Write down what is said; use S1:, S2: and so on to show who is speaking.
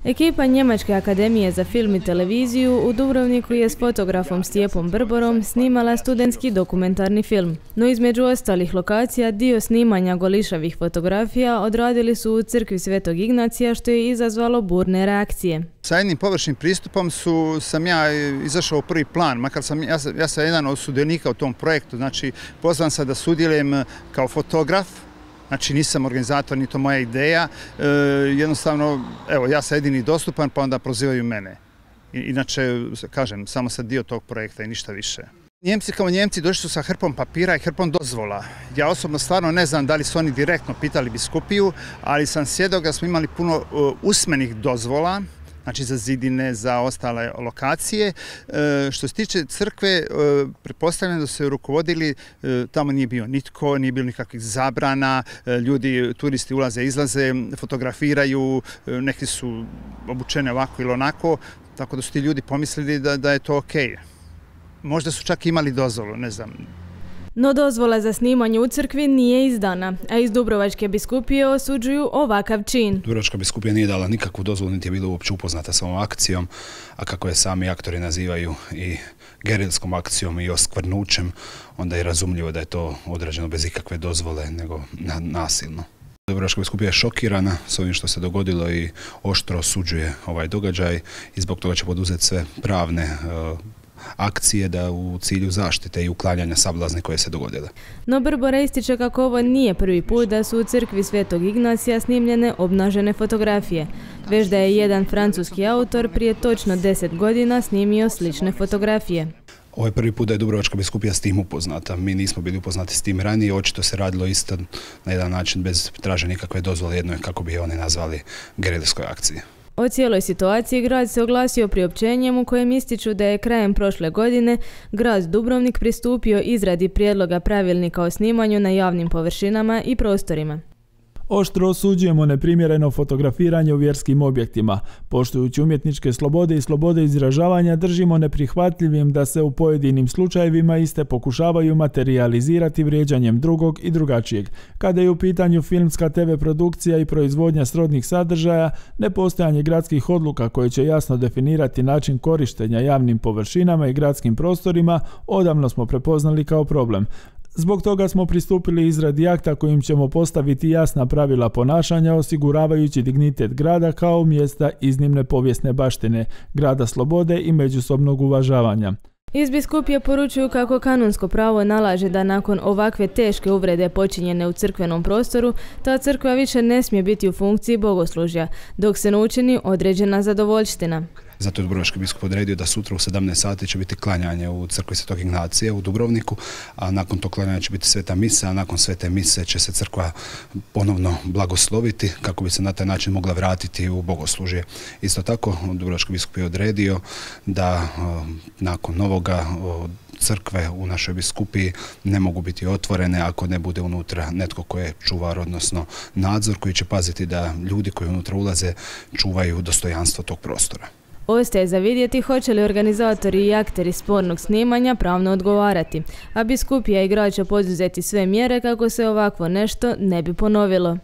S1: Ekipa Njemačke akademije za film i televiziju u Dubrovniku je s fotografom Stjepom Brborom snimala studentski dokumentarni film. No između ostalih lokacija dio snimanja golišavih fotografija odradili su u crkvi Svetog Ignacija, što je izazvalo burne reakcije.
S2: Sa jednim površnim pristupom sam ja izašao u prvi plan, makar ja sam jedan od sudionika u tom projektu, znači pozvan sam da sudjelujem kao fotograf. Znači nisam organizator, ni to moja ideja, jednostavno, evo, ja sam jedini dostupan, pa onda prozivaju mene. Inače, kažem, samo sam dio tog projekta i ništa više. Njemci kao Njemci došli su sa hrpom papira i hrpom dozvola. Ja osobno stvarno ne znam da li su oni direktno pitali biskupiju, ali sam svjedok da smo imali puno usmenih dozvola, znači za zidine, za ostale lokacije. Što se tiče crkve, pretpostavljam da su se rukovodili, tamo nije bio nitko, nije bilo nikakvih zabrana, ljudi, turisti ulaze, izlaze, fotografiraju, neki su obučeni ovako ili onako, tako da su ti ljudi pomislili da je to okej. Možda su čak imali dozvolu, ne znam.
S1: No dozvola za snimanje u crkvi nije izdana, a iz Dubrovačke biskupije osuđuju ovakav čin.
S3: Dubrovačka biskupija nije dala nikakvu dozvolu, niti je bila uopće upoznata s ovom akcijom, a kako je sami aktori nazivaju i gerilskom akcijom i oskvrnućem, onda je razumljivo da je to odrađeno bez ikakve dozvole, nego nasilno. Dubrovačka biskupija je šokirana s ovim što se dogodilo i oštro osuđuje ovaj događaj i zbog toga će poduzeti sve pravne akcije da u cilju zaštite i uklanjanja sablazni koje se dogodile.
S1: No Brbora ističe kako ovo nije prvi put da su u crkvi Svetog Ignacija snimljene obnažene fotografije, već da je jedan francuski autor prije točno 10 godina snimio slične fotografije.
S3: Ovo je prvi put da je Dubrovačka biskupija s tim upoznata. Mi nismo bili upoznati s tim ranije, očito se radilo isto na jedan način bez traženja nikakve dozvole, jednoj, kako bi je oni nazvali, gerilskoj akciji.
S1: O cijeloj situaciji grad se oglasio priopćenjem u kojem ističu da je krajem prošle godine grad Dubrovnik pristupio izradi prijedloga pravilnika o snimanju na javnim površinama i prostorima.
S4: Oštro osuđujemo neprimjereno fotografiranje u vjerskim objektima. Poštujući umjetničke slobode i slobode izražavanja, držimo neprihvatljivim da se u pojedinim slučajevima iste pokušavaju materijalizirati vrijeđanjem drugog i drugačijeg. Kada je u pitanju filmska TV produkcija i proizvodnja srodnih sadržaja, nepostojanje gradskih odluka koje će jasno definirati način korištenja javnim površinama i gradskim prostorima odavno smo prepoznali kao problem. Zbog toga smo pristupili izradi akta kojim ćemo postaviti jasna pravila ponašanja, osiguravajući dignitet grada kao mjesta iznimne povijesne baštine, grada slobode i međusobnog uvažavanja.
S1: Iz biskupije poručuju kako kanonsko pravo nalaže da nakon ovakve teške uvrede počinjene u crkvenom prostoru, ta crkva više ne smije biti u funkciji bogoslužja, dok se ne učini određena zadovoljština.
S3: Zato je Dubrovački biskup odredio da sutra u 17 sati će biti klanjanje u crkvi Svetog Ignacija u Dubrovniku, a nakon tog klanjanja će biti sveta misa, a nakon svete mise će se crkva ponovno blagosloviti kako bi se na taj način mogla vratiti u bogoslužje. Isto tako, Dubrovački biskup je odredio da nakon novoga crkve u našoj biskupiji ne mogu biti otvorene ako ne bude unutra netko koji je čuvar, odnosno nadzor koji će paziti da ljudi koji unutra ulaze čuvaju dostojanstvo tog prostora.
S1: Ostaje za vidjeti hoće li organizatori i akteri spornog snimanja pravno odgovarati, a biskupija i grad će poduzeti sve mjere kako se ovakvo nešto ne bi ponovilo.